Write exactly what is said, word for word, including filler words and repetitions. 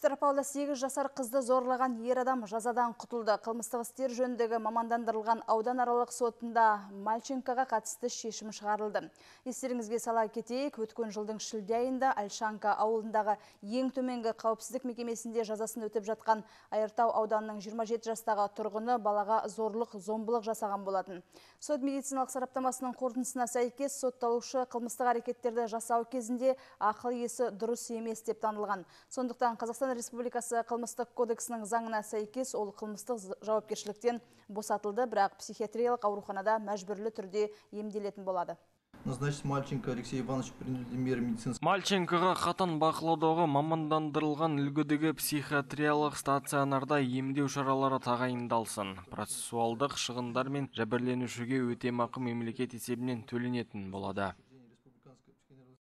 Петропавлда сегіз жасар қызды зорлаған ер адам жазадан құтылды. Қылмыстық істер жөніндегі мамандандырылған ауданаралық сотында Мальченкоға қатысты шешім шығарылды. Естеріңізге сала кетейік, өткен жылдың шілде айында Альшанка ауылындағы ең төменгі қауіпсіздік мекемесінде жазасын өтіп жатқан Айыртау ауданының жиырма жеті жастағы тұрғыны балаға зорлық, зомбылық жасаған болатын. Сот медициналық сараптамасының қорытындысына сәйкес сотталушы қылмыстық әрекеттерді жасау кезінде ақыл есі дұрыс емес деп танылған. Сондықтан Қазақстан Республикасы қылмыстық кодексінің заңына сәйкес ол қылмыстық жауапкершіліктен босатылды, бірақ психиатриялық ауруханада мәжбүрлі түрде емделетін болады. Назначить Мальченко Алексей Иванович принудительные меры медицинского. Мальченкоға қатаң бақылаудағы мамандандырылған үлгідегі психиатриялық стационарда емдеу шаралары тағайындалсын. Процессуалдық шығындар мен жәбірленушіге өтемақы мемлекет есебінен төленетін болады.